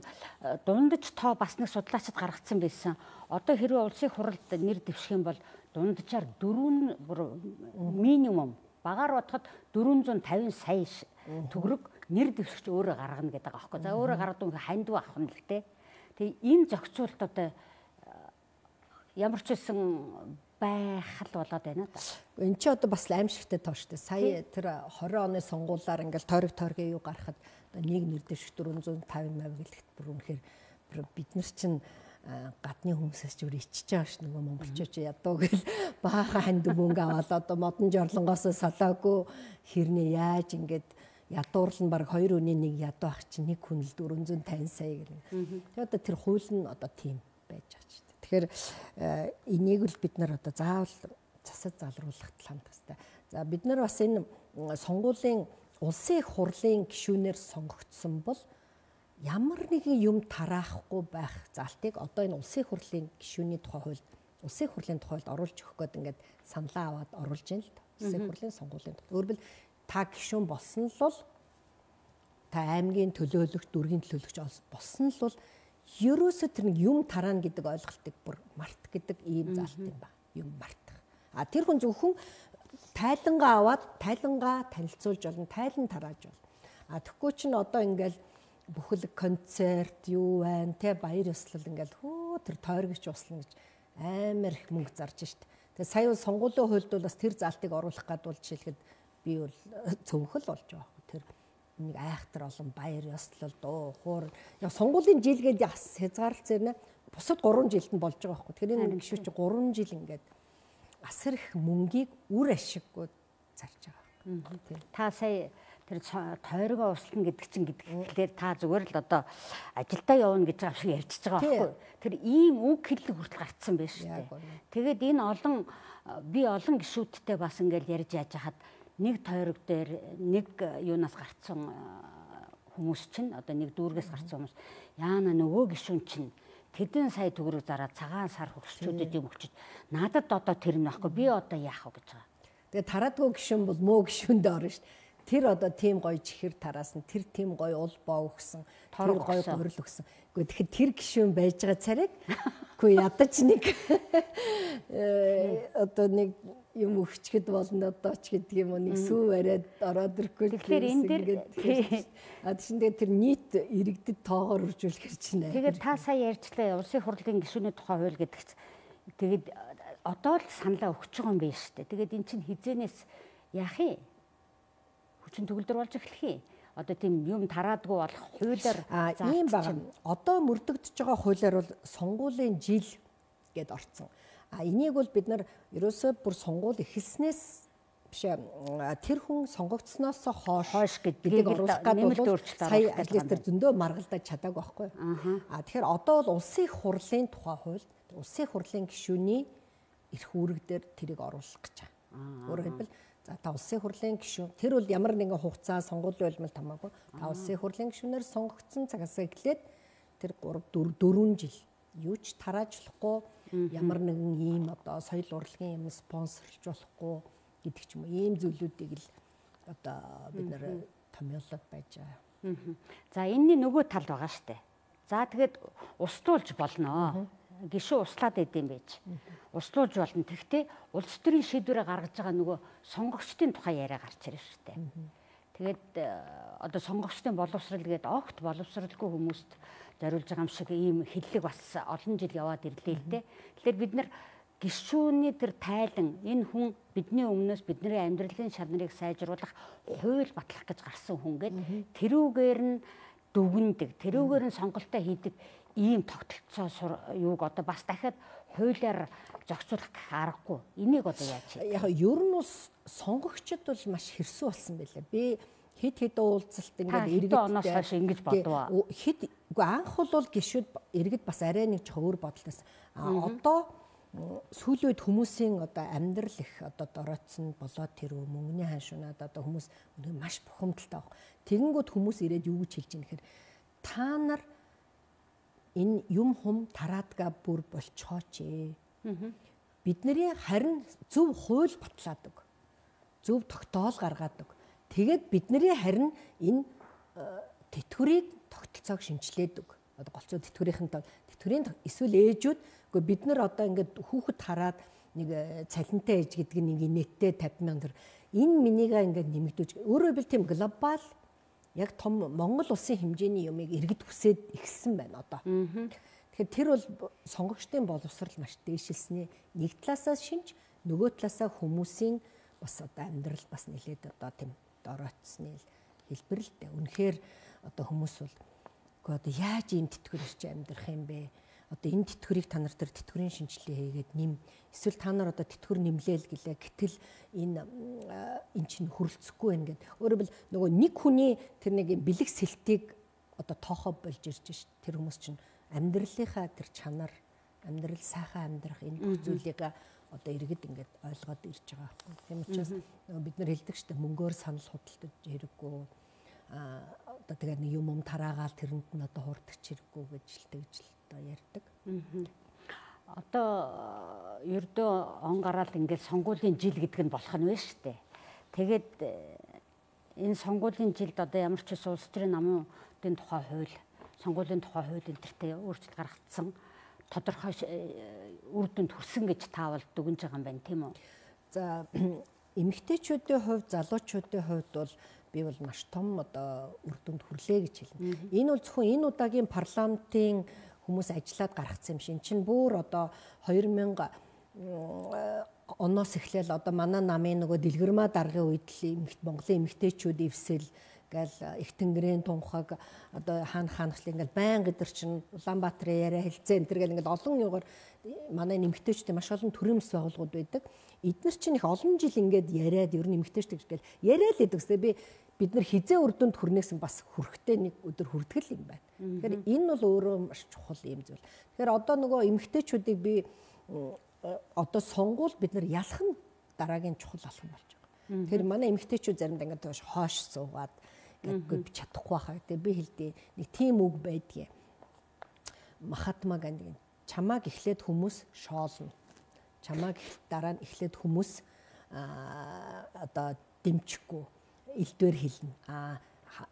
дундаж тоо бас нэг судлаачид гаргацсан байсан. Одоо хэрвээ улсын хуралд нэр дэвших юм бол дунджаар дөрвөн минимум багаар бодоход дөрвөн зуун тавин сая төгрөг нэр дэвшигч өөрөө гаргана гэдэг байгаа байхгүй. За өөрөө гаргадаг хүн хандив авах нь л те. Тэгээ энэ зохицуулт одоо ямар ч үсэн байх л болоод байна да. Энд чи одоо бас аимшигтай тоо штэ. Сая тэр хорин оны сонгуулиар ингээл тойрог тойргийн юу гарахад нэг нэр дэвшигч дөрвөн зуун тавин мав гэлэхэд бүр үнэхээр бид нар чинь гадны хүмүүсээс ч өөр ичж байгаа ш нөгөө монголчууд ядуу гэл баахан ханд мөнгө аваад одоо модон жорлонгоос салаагүй хэрнээ яаж ингээд ядуурлан баг хоёр өний нэг ядуу ах чинь нэг хүн л дөрвөн зуун тавин сая гэх юм. Тэгээ одоо тэр хууль нь одоо тийм байж байгаа ч. Тэгэхээр энийг л бид нар одоо заавал засаж залруулах хандах хэрэгтэй. За бид нар бас энэ сонгуулийн улсын их хурлын гишүүнээр сонгогдсон бол ямар нэгэн юм тараахгүй байх залтыг одоо энэ улсын хурлын гишүүний тухай хуульд улсын хурлын тухайд оруулж өгөх гээд ингээд саналаа аваад оруулж ийн л та. Улсын хурлын сонгуулийн тухай. Өөрөөр хэлбэл та гишүүн болсон л бол та аймгийн төлөөлөгч, дүүргийн төлөөлөгч болсон л бол ерөөсөө тэр нэг юм тараана гэдэг ойлголтыг бүр март гэдэг ийм залт юм ба. Юм мартах. А тэр хүн зөвхөн тайлангаа аваад тайлангаа танилцуулж болно, тайлан тарааж болно. А тэгэхгүй чинь одоо ингээл бүхэл концерт юу байна те баяр ёслол ингээл хөө тэр тойрогч услна гэж амар их мөнгө зарж шít. Тэгээ сая бол сонгуулийн хуульд бол бас тэр залтыг оруулах гад бол жишээлхэд би бол цөмхөл болж байгаа. Тэр нэг айхтар олон баяр ёслол дуу хуур яг сонгуулийн жилгээд бас хязгаарлалт зэрнэ бусад гурван жилд нь болж байгаа байхгүй. Тэгэхээр энэ гişүү чи гурван жил ингээд асар их мөнгийг үр ашиггүй зарж байгаа. Тийм. Та сая тэр тойрогоо услна гэдэг чинь гэдгээр та зүгээр л одоо ажилдаа явна гэж байгаа шиг ярьчихж байгаа байхгүй. Тэр ийм үг хэллэг хүртэл гарцсан байж тээ. Тэгээд энэ олон би олон гişүүдтэй бас ингээл ярьж яаж хахад нэг тойрог дээр нэг юунаас гарцсан хүмүүс чинь одоо нэг дүүргээс гарцсан хүмүүс яана нөгөө гişүүн чинь тэдэн сая төгрөг зараад цагаан сар хөрсчүүдэд юм өгчөж надад одоо тэр нь байхгүй би одоо яах вэ гэж байгаа. Тэгээд тараадгүй гişүүн бол муу гişүүндээ орно шүү дээ. Тэр одоо тийм гоё чихэр тараасан, тэр тийм гоё ул боо өгсөн, тэр гоё гурил өгсөн. Гэхдээ тэгэхээр тэр гişүүн байж байгаа царайг үгүй ядаж нэг одоо нэг юм өгчгэд болно одоо ч гэдэг юм уу нэг сүү бариад ороод ирэхгүй. Тэгэхээр энэ дэр а тийшээ тэр нийт иргэдэд тоогоор үржүүлэхэр чинь. Тэгээд та сая ярьчлаа улсын хурлын гишүүний тухай хууль гэдэг чинь тэгээд одоо л саналаа өгч байгаа юм байна шүү дээ. Тэгээд эн чинь хизэнээс яах юм? Хүчин төгөлдөр болж эхлэх юм. Одоо тийм юм тараадгүй болох хуулиар ийм байгаа. Одоо мөрдөгдөж байгаа хуулиар бол сонгуулийн жил гэд орцсон. А энийг бол бид нар ерөөсөө бүр сонгуул эхэлснээс биш тэр хүн сонгогдсноос хойш хойш гэдгийг оруулах гэдэг бол сая ажлын дээр зөндөө маргалдаж чадаагүй байхгүй. А тэгэхээр одоо бол улсын их хурлын тухай хууль, улсын их хурлын гишүүний эрх үүрэг дээр тэрийг оруулах гэж байна. Өөрөөр хэлбэл за та улсын хурлын гишүүн тэр бол ямар нэгэн хугацаа сонгуулийн улмал хамаагүй та улсын хурлын гишүүнээр сонгогдсон цагаас эхлээд тэр гурав дөрвөн жил юу ч тарааж болохгүй ямар нэгэн ийм одоо соёл урлагийн юм спонсорлж болохгүй гэдэг ч юм уу ийм зүйлүүдийг л одоо бид нэр томьёолоод байж байгаа. За энэний нөгөө тал байгаа штэ. За тэгээд уструулж болно. Гишүү услаад идэм байж. Уструулж болно. Тэгвэл улс төрийн шийдвэрээ гаргаж байгаа нөгөө сонгогчдын тухай яриа гарч ирж штэ. Тэгээд одоо сонгогчдын боловсрал гэдэг огт боловсралгүй хүмүүст зориулж байгаа юм шиг ийм хиллэг бас олон жил яваад ирлээ л дээ. Тэгэхээр бид нар гишүүний тэр тайлан энэ хүн бидний өмнөөс бидний амьдралын шалнарыг сайжруулах хууль батлах гэж гарсан хүн гээд тэрүүгээр нь дүгндэг, тэрүүгээр нь сонголтоо хийдэг ийм тогтолцоо юуг одоо бас дахиад хуулиар зохицуулах аргагүй. Энийг одоо яаж хийх? Яг ер нь бас сонгогчд бол маш хэрсүү болсон байлаа. Би хэд хэд уулзалт ингээд иргэд оноос хойш ингэж бодваа. Хэд үгүй анх бол гişүүд иргэд бас арай нэг өөр бодолтой. А одоо сүүлийн үед хүмүүсийн одоо амьдрал их одоо дороодсон болоод тэр мөнгөний ханшунаад одоо хүмүүс маш бухимдалтай баг. Тэгэнгүүт хүмүүс ирээд юу гэж хэлж ийм гэхээр та нар энэ юм хум тараадгаа бүр болцооч ээ. Бидний харин зөв хууль батлаад өг. Зөв тогтоол гаргаад өг. Тэгээд бидний харин энэ тэтгэврийг тогтолцоог шинжилээд өг. Одоо голцоо тэтгэврийн тоо тэтгэврийн эсвэл ээжүүд үгүй бид нар одоо ингээд хүүхэд хараад нэг цалинтай ээж гэдэг нэг нэттэй тавьсан мянга төр энэ минийга ингээд нэмэгдүүлж өөрөөр хэлбэл тийм глобал яг том Монгол улсын хэмжээний юмыг иргэд хүсээд ихсэн байна одоо. Тэгэхээр тэр бол сонгогчдын боловсрал маш дээшилсний нэг талаасаа шинж, нөгөө талаасаа хүмүүсийн бас одоо амьдрал бас нэлээд одоо тийм доройтсны хэлбэр л дээ. Үнэхээр одоо хүмүүс бол үгүй одоо яаж ийм тэтгэр ирч амьдрах юм бэ? Одоо энэ тэтгэрийг та нар тэр тэтгэврийн шинжилгээ хийгээд нэм эсвэл та нар одоо тэтгэвэр нэмлээл гэлээ гэтэл энэ эн чинь хүрэлцэхгүй байна гэд. Өөрөөр хэлбэл нөгөө нэг хүний тэр нэг бэлэг сэлтийг одоо тоохоо болж ирж ш. Тэр хүмүүс чинь амьдралынхаа тэр чанар, амьдрал сайхан амьдрах энэ бүх зүйлийг одоо иргэд ингээд ойлгоод ирж байгаа байхгүй. Тийм учраас бид нар хэлдэг шүү дээ мөнгөөр санал худалдаж хэрэггүй. А одоо тэгээ нэг юм юм тараагаал тэрэнд нь одоо хуурдагч хэрэггүй гэж л тэгж л одоо ярьдаг. Одоо ердөө он гараал ингээд сонгуулийн жил гэдэг нь болох нь байна шүү дээ. Тэгээд энэ сонгуулийн жилд одоо ямар ч ус улс төрийн намуудын тухай хууль, сонгуулийн тухай хууль энтертэй өөрчлөлт гаргагдсан. Тодорхой үр дүнд хүрсэн гэж таавал дүгнж байгаа юм байна тийм үү? За эмэгтэйчүүдийн хувьд, залуучуудын хувьд бол би бол маш том одоо үр дүнд хүрлээ гэж хэлнэ. Энэ бол зөвхөн энэ удаагийн парламентын хүмүүс ажиллаад гаргацсан юм шин. Чин бүр одоо хоёр мянга оноос эхлээл одоо манай намын нөгөө дэлгэрмаа даргын үед л Монголын эмэгтэйчүүд ивсэл гэл их тэнгэрийн тунхаг одоо хаан хаанхлын ингээл байнга өдөр чин Улаанбаатарын яриа хэлцээ энэ төр гэл ингээл олон югаар манай эмэгтэйчүүдийн маш олон төрийн мэс байгууллагууд байдаг. Эдгээр чинь их олон жил ингээд яриад ер нь эмэгтэйчдэг гэл яриа л гэдэг үстэй би бид нар хизээ үр дүнд хүрнээс бас хүрхтэй нэг өдөр хүртгэл юм байна. Тэгэхээр энэ бол өөрөө маш чухал юм зүйл. Тэгэхээр одоо нөгөө эмэгтэйчүүдийг би одоо сонгуул бид нар ялах нь дараагийн чухал алхам болж байгаа. Тэгэхээр манай эмэгтэйчүүд заримдаа ингээд хоош суугаад ингээд би чадахгүй хаа гэдэг би хэлдэг нэг тийм үг байдгийг. Махатма Ганди чамааг эхлээд хүмүүс шоолно. Чамааг дараа нь эхлээд хүмүүс одоо дэмжихгүй элдвэр хэлнэ. А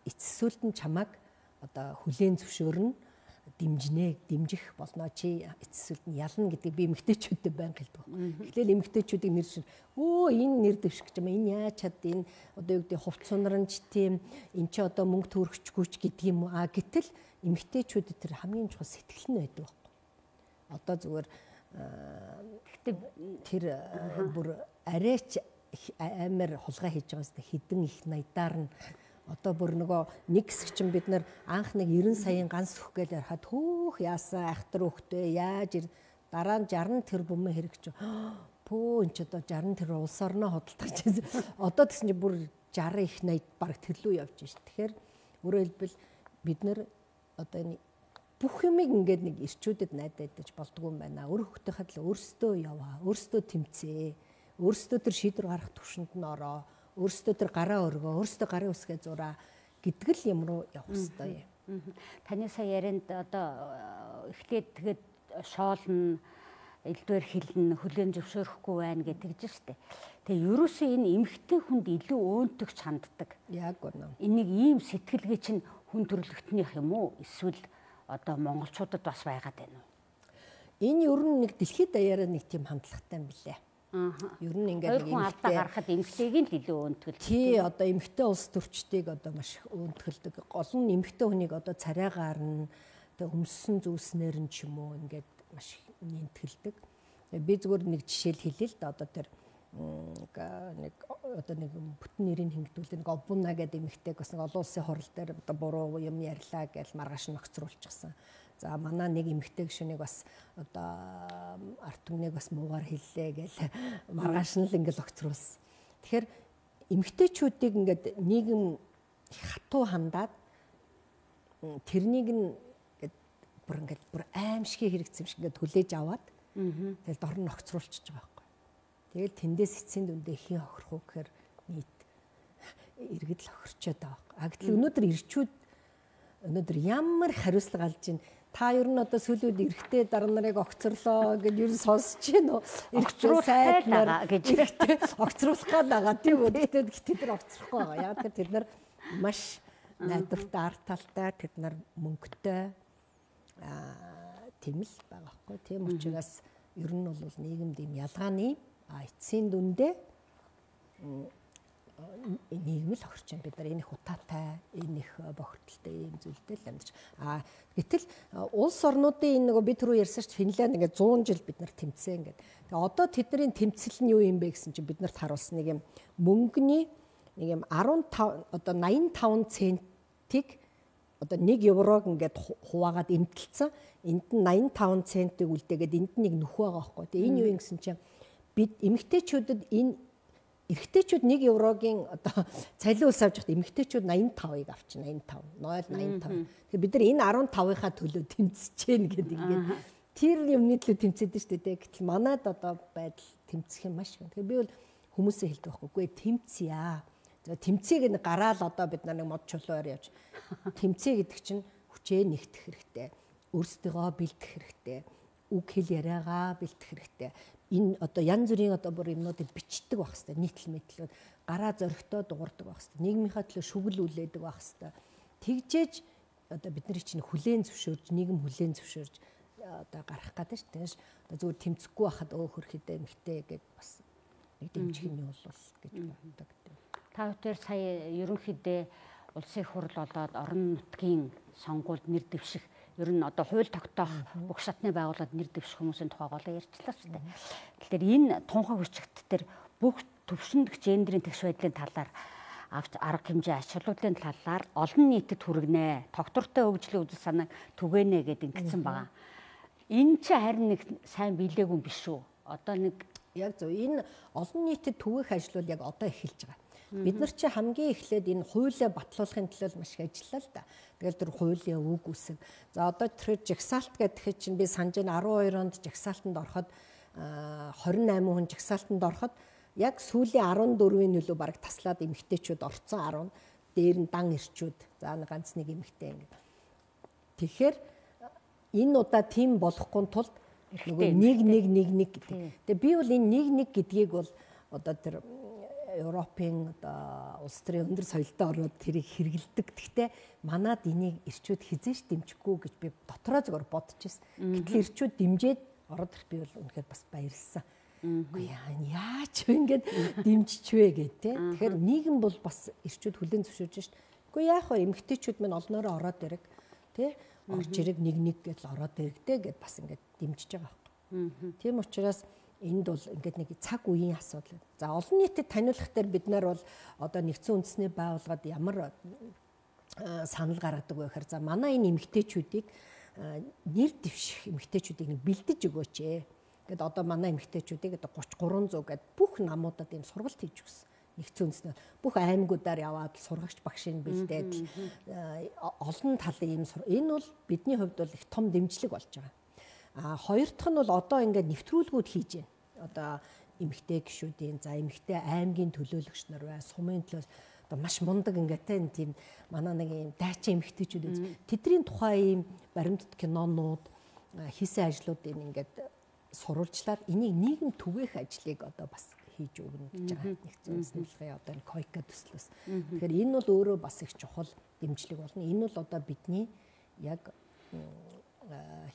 эцэсүүлд нь чамааг одоо хүлээн зөвшөөрнө, дэмжнэ, дэмжих болно чи эцэсүүлд нь ялна гэдгийг би эмэгтэйчүүдэд байнга хэлдэг. Эхлээл эмэгтэйчүүдийг нэр шин өө энэ нэр дэвших гэж юм энэ яаж чад энэ одоо юу гэдэг хувц сунаранч тийм эн чи одоо мөнгө төрөгчгүйч гэдэг юм уу. А гэтэл эмэгтэйчүүдэд тэр хамгийн чухал сэтгэл нь байдаг байхгүй. Одоо зүгээр гэхдээ тэр бүр арайч амар хулгай хийж байгаа юм хэдэн их найдаар нь одоо бүр нөгөө нэг хэсэг чинь бид нар анх нэг девяносто саяын ганц өгөх гээл ярахад хөөх яасан айхтар өгтөө яаж дараа нь шаран тэрбум хэрэгч пөө энэ ч одоо шаран тэр улс орноо хөдөлтөж чинь одоо тэгсэн чинь бүр шаран их найд баг тэрлүү явж шин. Тэгэхээр өөрөөр хэлбэл бид нар одоо энэ бүх юмыг ингээд нэг ирчүүдэд найдаад байж болдгоо юм байна. Өөр хөлтөөхөд л өөрсдөө яваа, өөрсдөө тэмцээ, өөрсдөө тэр шийдвэр гаргах төвшөнд нь ороо, өөрсдөө тэр гараа өргөө, өөрсдөө гарын үсгээ зураа гэдэг л юм руу явах хэрэгтэй юм. Таны сая ярианд одоо эхлээд тэгэд шоолно, элдвэр хэлнэ, хүлээн зөвшөөрөхгүй байна гэж тэгж штэ. Тэгээ ерөөсөө энэ эмэгтэй хүнд илүү өөнтөгч ханддаг. Яг үнэ. Энийг ийм сэтгэлгээ чинь хүн төрөлхтнийх юм уу? Эсвэл одоо монголчуудад бас байгаад байна уу? Энэ ер нь нэг дэлхийд даяараа нэг тийм хандлагатай юм билээ. Аа. Ер нь ингээд нэг алдаа гарахад эмэгтэйг л илүү өөнтгөл. Тий, одоо эмэгтэй улс төрчдийг одоо маш өөнтгөлдөг. Гол нь эмэгтэй хүнийг одоо царайгаар нь тэг өмссөн зүйлснэр нь ч юм уу ингээд маш нэмтгэлдэг. Би зүгээр нэг жишээл хэлээ л да одоо тэр нэг одоо нэг бүтэн нэрийг хэнгдүүлээ нэг обуна гэдэг эмэгтэйг бас нэг олон улсын хурал дээр одоо буруу юм ярьлаа гэж маргааш нь огцруулчихсан. За манай нэг эмэгтэй гишүүнийг бас одоо арт түмнийг бас муугаар хэллээ гэж маргааш нь л ингээл огцруулсан. Тэгэхээр эмэгтэйчүүдийг ингээд нийгэм хатуу хандаад тэрнийг нь бүр ингээд бүр аимшигын хэрэгцсэн юм шиг ингээд хүлээж аваад тэгэл дор нь огцруулчихж байгаа байхгүй. Тэгэл тэндээс эцсийн дүндээ хийн хохирох уу гэхээр нийт иргэд л хохирчод байгаа байхгүй. А гэтэл өнөөдөр ирчүүд өнөөдөр ямар хариуцлага алж ийн та ер нь одоо сүлүүд эрэхтэй дараа нарыг огцорлоо гэж ер нь сонсож байна уу? Огцруулах байлаа гэж огцруулах байгаа тийм үү? Тэгтээ гэтээ тэр огцрохгүй байгаа. Яг тэр тэд нар маш найдвартай, арт талтай, тэд нар мөнгөтэй аа тийм л байгаа байхгүй. Тийм учраас ер нь бол нийгэмд ийм ялгааны а эцсийн дүндээ нийгмэл хохирч байна. Бид нар энэ их утаатай, энэ их бохирдолтой ийм зүйлтэй л амьдарч. А гэтэл улс орнуудын энэ нөгөө бид түрүү ярьсан чинь Финланд ингээд зуун жил бид нар тэмцсэн ингээд. Тэгээ одоо тэдний тэмцэл нь юу юм бэ гэсэн чинь бид нарт харуулсан нэг юм мөнгөний нэг юм арван тав одоо найман таван центиг одоо нэг еврог ингээд хуваагаад эмтэлсэн. Энд нь найман таван центиг үлдээгээд энд нь нэг нөх байгаа байхгүй. Тэгээ энэ юу юм гэсэн чинь бид эмэгтэйчүүдэд энэ эрэгтэйчүүд нэг еврогийн одоо цалин ус авч байхад эмэгтэйчүүд найман тавыг авчихна. найман тав, нойл найман тав. Тэгэхээр бид нар энэ арван тавынхаа төлөө тэмцэж гин гэдэг ингээд тэр юмны төлөө тэмцээд шүү дээ. Гэтэл манайд одоо байдал тэмцэх юм маш их. Тэгэхээр би бол хүмүүсээ хэлдэг байхгүй. Үгүй тэмцъя. За тэмцээг нь гараал одоо бид нар нэг мод чулуугаар явж тэмцээ гэдэг чинь хүчээ нэгтгэх хэрэгтэй. Өөрсдийгөө бэлдэх хэрэгтэй. Үг хэл яриагаа бэлдэх хэрэгтэй. Энэ одоо янз бүрийн одоо бүр юмнуудыг бичдэг байх хэвээр нийтлэл мэдлүүд гараа зөрөгтөө дуурдаг байх хэвээр нийгмийнхаа төлөө шүгэл үлээдэг байх хэвээр тэгжээж одоо бидний чинь хүлээн зөвшөөрж нийгэм хүлээн зөвшөөрж одоо гарах гэдэг шүү дээ. Одоо зүгээр тэмцэхгүй байхад өө хөрхөдөө эмхтэй гэд бас нэг дэмжих нь бол гэж боддог. Та бүхэн сая ерөнхийдөө улсын хурл болоод орон нутгийн сонгуульд нэр дэвших ер нь одоо хууль тогтоох бүх шатны байгууллагад нэр дэвших хүмүүсийн тухай голоо ярьчлаа шүү дээ. Тэгэхээр энэ тунхаг хүчигт төр бүх төвшөнд гендерийн тэгш байдлын талаар авч арга хэмжээ ачааллуудын талаар олон нийтэд хүргэнэ. Тогтвортой хөгжлийн үзэл санааг түгэнэ гэдэг ингэсэн байгаа. Энэ ч харин нэг сайн биелээгүй юм биш үү? Одоо нэг яг зөв энэ олон нийтэд түгээх ажлууд яг одоо эхэлж байгаа. Бид нар чи хамгийн эхлээд энэ хуулиа батлуулахын төлөө маш их ажиллаа л да. Тэгэл тэр хуулийн үг үсэг. За одоо тэр жагсаалт гэдэг чинь би санаж байна арван хоёр онд жагсаалтанд ороход хорин найман хүн жагсаалтанд ороход яг сүүлийн арван дөрвийн нөлөө бараг таслаад эмэгтэйчүүд орцсон арван дээр нь дан ирчүүд за ганц нэг эмэгтэй ингэ. Тэгэхээр энэ удаа тийм болохгүй тулд нөгөө нэг нэг нэг нэг гэдэг. Тэгээ би бол энэ нэг нэг гэдгийг бол одоо тэр Европын одоо улс төрийн өндөр соёлтой орнууд тэрийг хэрэгэлдэг. Гэхдээ манад энийг ирчүүд хизээш дэмжихгүй гэж би дотроо зөвөр бодож байсан. Гэтэл ирчүүд дэмжиж ороод ирэх би бол үнэхээр бас баярлсан. Үгүй яа яач вэ ингээд дэмжиж вэ гэх тээ. Тэгэхээр нийгэм бол бас ирчүүд хүлээн зөвшөөрж шít. Үгүй яах вэ эмэгтэйчүүд мань олноороо ороод ирэг тээ. Орж ирэг нэг нэг гэж ороод ирэгдээ гэд бас ингээд дэмжиж байгаа байхгүй. Тийм учраас энд бол ингээд нэг цаг үеийн асуудал. За олон нийтэд таниулах дээр бид нар бол одоо нэгдсэн үндэсний байгууллагад ямар санал гаргадаг вэ гэхээр за манай энэ эмэгтэйчүүдийг нэр дэвших эмэгтэйчүүдийг нэг бэлдэж өгөөч ээ. Гэт одоо манай эмэгтэйчүүдийг одоо гуч гурван зуун гэд бүх намуудад энэ сургалт хийж өгсөн. Нэгдсэн үндэснээр бүх аймагуудаар яваад сургагч багшийн бэлдээд олон талын юм энэ бол бидний хувьд бол их том дэмжлэг болж байгаа. А хоёр дахь нь бол одоо ингээд нэвтрүүлгүүд хийж байна. Одоо эмэгтэй гишүүдийн за эмэгтэй аймгийн төлөөлөгч нар бай, сумын төлөөс одоо маш мундаг ингээд тийм манай нэг юм дайчин эмэгтэйчүүд үз. Тэдний тухай ийм баримтат кинонууд хийсэн ажлуудыг ингээд сурвалжлаад энийг нийгэм түгээх ажлыг одоо бас хийж өгнө гэж байгаа. Нэгдсэн үндэсний байгууллагын одоо энэ койка төслөөс. Тэгэхээр энэ бол өөрөө бас их чухал дэмжлэг болно. Энэ бол одоо бидний яг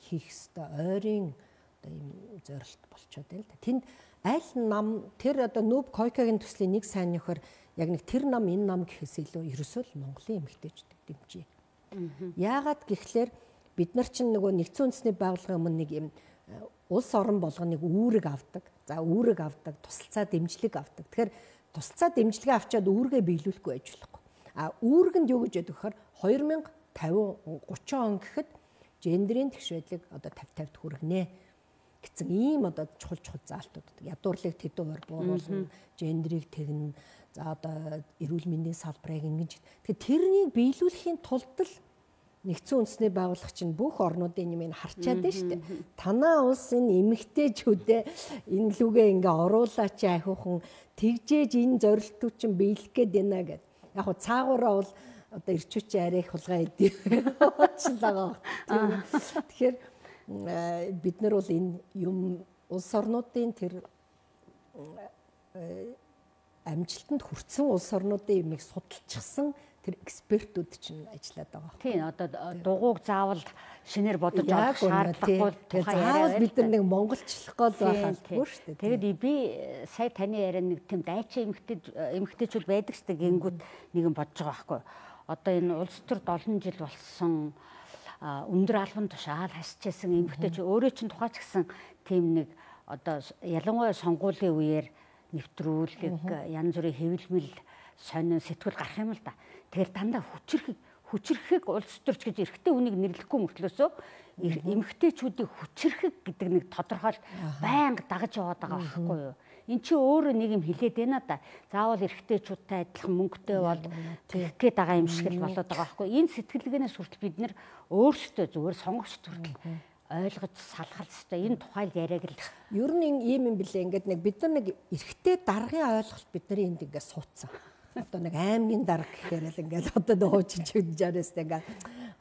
хийх ёстой ойрын одоо ийм зорилт болчиход байна л да. Тэнд аль нам тэр одоо нүүб койкагийн төслийн нэг сайн нөхөр яг нэг тэр нам энэ нам гэхээс илүү ерөөсөө л Монголын эмэгтэйчүүдийг дэмжиж. Яагаад гэхлээр бид нар чинь нөгөө нэгдсэн үндэсний байгууллагын өмнө нэг юм улс орон болгоныг үүрэг авдаг. За үүрэг авдаг, тусалцаа дэмжлэг авдаг. Тэгэхээр тусалцаа дэмжлэгээ авчаад үүргээ биелүүлэхгүй байж болохгүй. А үүрэгэнд юу гэж яддаг гэхээр хоёр мянга тавин гурван он гэхэд гендерийн тэгш байдлыг одоо тавь тавьд хүргэнэ гэсэн ийм одоо чухал чухал заалтууд. Ядуурлыг тэдэн хувиар бууруулна, гендерийг тэгнэ. За одоо эрүүл мэндийн салбарыг ингэж. Тэгэхээр тэрнийг биелүүлэхийн тулд л нэгдсэн үндэсний байгууллага чинь бүх орнуудын юм ин харчаад байна шүү дээ. Танаа улс энэ эмэгтэйчүүдээ энэ лүгээ ингээ оруулаач ахиухан тэгжээж энэ зорилтууд чинь биелэх гээд байна гэд. Яг хуу цаагаараа бол одоо ирчүүч арай их хулгай идэв. Уучлаа. Тэгэхээр бид нар бол энэ юм улс орнуудын тэр амжилтанд хүрсэн улс орнуудын юмыг судалчихсан тэр экспертүүд чинь ажиллаад байгаа. Тийм одоо дугуйг заавал шинээр бодож авах шаардлагагүй. Тэгэхээр заавал бид нар нэг монголчлох гол байхалгүй шүү дээ. Тэгээд би сая таны яриа нэг тийм дайчин эмэгтэй эмэгтэйчүүд байдаг шүү дээ. Гингүүд нэгэн бодож байгаа байхгүй. Одоо энэ улс төрд олон жил болсон өндөр албан тушаал хасчихсан эмэгтэйч өөрөө чинь тухайч гэсэн тийм нэг одоо ялангуяа сонгуулийн үеэр нэвтрүүлэг янз бүрийн хэвлэмэл сонин сэтгүүл гарах юм л да. Тэгэхээр дандаа хүчрэх хүчрэхийг улс төрч гэж эрэгтэй хүнийг нэрлэхгүй мөртлөөсөө эмэгтэйчүүдийг хүчрэхийг гэдэг нэг тодорхойл байнга дагаж яваад байгаа байхгүй юу? Эн чинь өөрөө нэг юм хэлээд байна да. Заавал эрэгтэйчүүдтэй адилхан мөнгөтэй бол тэгэх гээд байгаа юм шиг л болоод байгаа байхгүй юу? Энэ сэтгэлгээнээс хүртэл бид нэр өөрсдөө зүгээр сонгогчд хүртэл ойлгож салгах хэрэгтэй. Энэ тухайл яриаг л ер нь ийм юм билээ. Ингээд нэг бид нар нэг эрэгтэй даргын ойлголт бидний энд ингээд суудсан. Одоо нэг аймгийн дарга гэхээр л ингээд одоо нэг хуучин чигжээрээс ингээд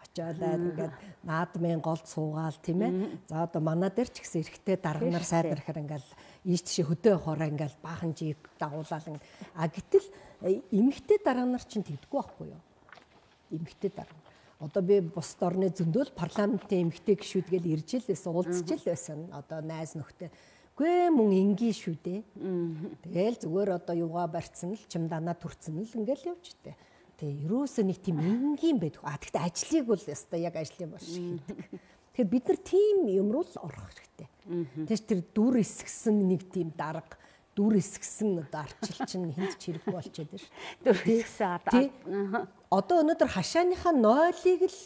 очиолаад ингээд наадмын голд суугаал тийм ээ. За одоо манай дээр ч гэсэн эрэгтэй дарга нар сайдэрхээр ингээд ийш тийш хөдөө явахаараа ингээд баахан жиг дагуулаад а гэтэл эмэгтэй дарга нар чинь тэгдэггүй байхгүй юу? Эмэгтэй дарга. Одоо би бусад орны зөндөөл парламентын эмэгтэй гишүүд гэл ирж л байсан, уулзч л байсан. Одоо найз нөхдөд гүй мөн ингийн шүү дээ. Тэгэл зүгээр одоо юугаа барьцсан л чим данаа төрцөн л ингээл явж дээ. Тэгээ ерөөсөө нэг тийм энгийн байдаг. А тэгтээ ажлыг бол яста яг ажлын бол шиг хийдэг. Тэгэхээр бид нар тийм юм руу л орох хэрэгтэй. Тэгэж тэр дүр эсгсэн нэг тийм дарга, дүр эсгсэн одоо арчилчин хүнд ч хэрэггүй болчиход байна шүү. Дүр эсгсэн одоо өнөөдөр хашааныхаа нойлыг л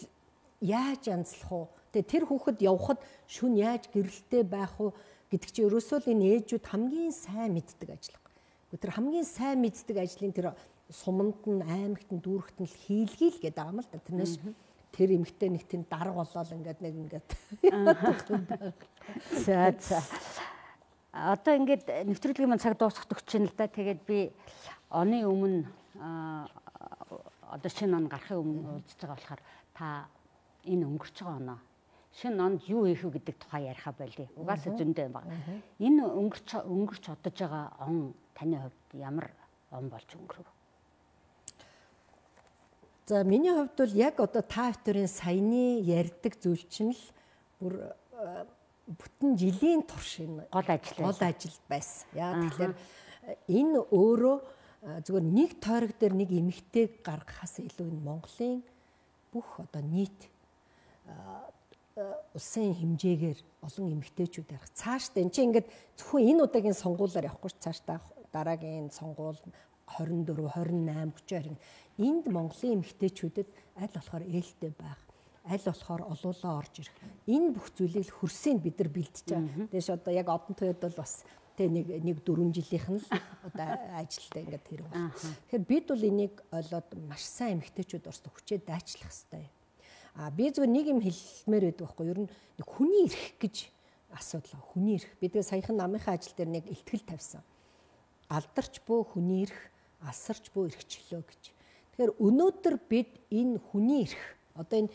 яаж янзлах уу? Тэгээ тэр хүүхэд явхад шүн яаж гэрэлтэй байх уу гэдэг чинь ерөөсөө л энэ ээжүүд хамгийн сайн мэддэг ажиллах. Тэр хамгийн сайн мэддэг ажлын тэр суманд нь аймагт нь дүүрэгт нь хийлгээл гэдэг байгаа юм л да. Тэрнээс тэр эмэгтэй нэг тийм дарга болоод ингээд нэг ингээд за за одоо ингээд нэвтрүүлгийн мань цаг дуусах төгч нь л да. Тэгээд би оны өмнө одоо шинэ он гарахын өмнө уулзж байгаа болохоор та энэ өнгөрч байгаа оноо шинэ онд юу хийх вэ гэдэг тухай яриха байлээ. Угаасаа зөндөө юм байна. Энэ өнгөрч өнгөрч одож байгаа он таны хувьд ямар он болж өнгөрөв? За миний хувьд бол яг одоо та хоёрын саяны ярьдаг зүйл чинь л бүр бүтэн жилийн турш энэ гол ажил гол ажил байсан. Яа тэгэхээр энэ өөрөө зүгээр нэг тойрог дээр нэг эмэгтэйг гаргахаас илүү энэ Монголын бүх одоо нийт улсын хэмжээгээр олон эмэгтэйчүүд ярих. Цаашдаа энэ чинь ингээд зөвхөн энэ удаагийн сонгуулиар явахгүй ч цаашдаа дараагийн сонгуул хорин дөрөв, хорин найм, хүчээр энд Монголын эмэгтэйчүүдэд аль болохоор ээлтэй байх, аль болохоор олуулаа орж ирэх. Энэ бүх зүйлийг хөрсөйнд бид нар бэлдэж байгаа. Тэгээс одоо яг одон тойрд бол бас тэг нэг нэг дөрвөн жилийнх нь л одоо ажилтаа ингээд хэрэг байна. Тэгэхээр бид бол энийг ойлгоод маш сайн эмэгтэйчүүд орсон хүчээ дайчлах хэрэгтэй. А би зөв нэг юм хэлмээр байдаг байхгүй юу? Ер нь нэг хүний эрх гэж асуудал. Хүний эрх. Бид саяхан намынхаа ажил дээр нэг ихтгэл тавьсан. Алдарч буй хүний эрх, асарч буй эрхчлөө гэж. Тэгэхээр өнөөдөр бид энэ хүний эрх одоо энэ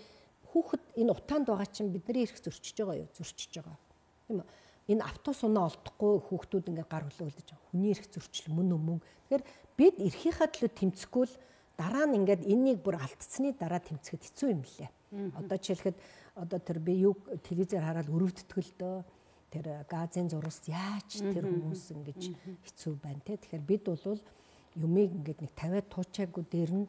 хүүхэд энэ утаанд байгаа чинь бидний эрх зөрчиж байгаа юу? Зөрчиж байгаа. Тийм үү? Энэ автобус унаа олдохгүй хүүхдүүд ингээд гар хөлөөлдөж байгаа. Хүний эрх зөрчил мөн өмнө. Тэгэхээр бид эрхийнхаа төлөө тэмцэхгүй л дараа нь ингээд энэнийг бүр алдцсны дараа тэмцэхэд хэцүү юм лээ. Одоо жишээлхэд одоо тэр би юу телевизээр хараад өрөвддөг л дөө. Тэр газын зурвас яаж тэр хүмүүс ингэж хэцүү байна те. Тэгэхээр бид бол юмыг ингээд нэг тавиад туучаагүй дээр нь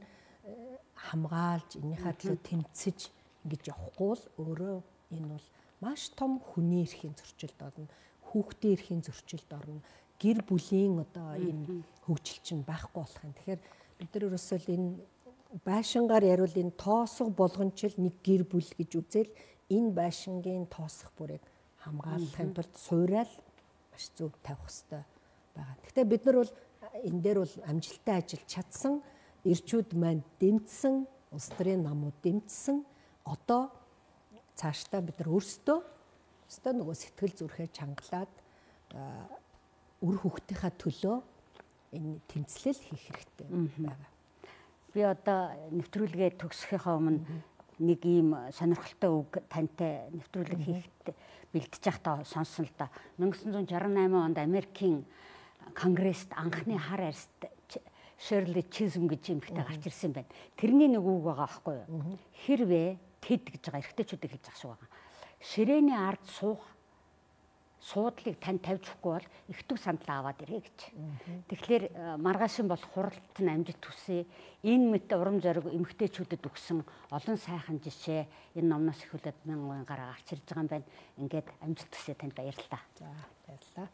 хамгаалж энийхээ төлөө тэмцэж ингэж явахгүй л өөрөө энэ бол маш том хүний эрхийн зөрчилд орно, хүүхдийн эрхийн зөрчилд орно, гэр бүлийн одоо энэ хөгжил чинь байхгүй болох юм. Тэгэхээр бид нар ерөөсөө энэ байшингаар яривал энэ тоосго болгончл нэг гэр бүл гэж үзэл энэ байшингийн тоосго бүрийг хамгаалахын тулд суурал маш зөв тавих хэрэгтэй байгаа. Гэхдээ бид нар бол энэ дээр бол амжилттай ажиллаж чадсан, ирчүүд маань дэмжсэн, улс төрийн намууд дэмжсэн. Одоо цаашдаа бид нар өөрсдөө өөрсдөө нөгөө сэтгэл зүрхээ чангалаад үр хүүхдийнхаа төлөө энэ тэмцлэл хийх хэрэгтэй байгаа. Би одоо нэвтрүүлгээ төгсөхийнхаа өмнө нэг ийм сонирхолтой үг тантай нэвтрүүлэг хийхэд бэлдэж байхдаа сонссон л да. мянга девятьсот шестьдесят восемь онд Америкийн конгресст анхны хар арьст Shirley Chisholm гэж эмэгтэй гарч ирсэн байна. Тэрний нэг үг байгаа байхгүй юу? Хэрвээ тэд гэж байгаа эрэгтэйчүүдийг хэлж ах шиг байгаа. Ширээний ард суух суудлыг тань тавьж өгөхгүй бол их төв сандлаа аваад ирээ гэж. Тэгэхээр маргаашин бол хуралт нь амжилт хүсье. Энэ мэт урам зориг эмэгтэйчүүдэд өгсөн олон сайхан жишээ энэ номноос ихүүлээд мянган гараа гарч ирж байгаа юм байна. Ингээд амжилт хүсье танд баярлалаа. За баярлалаа.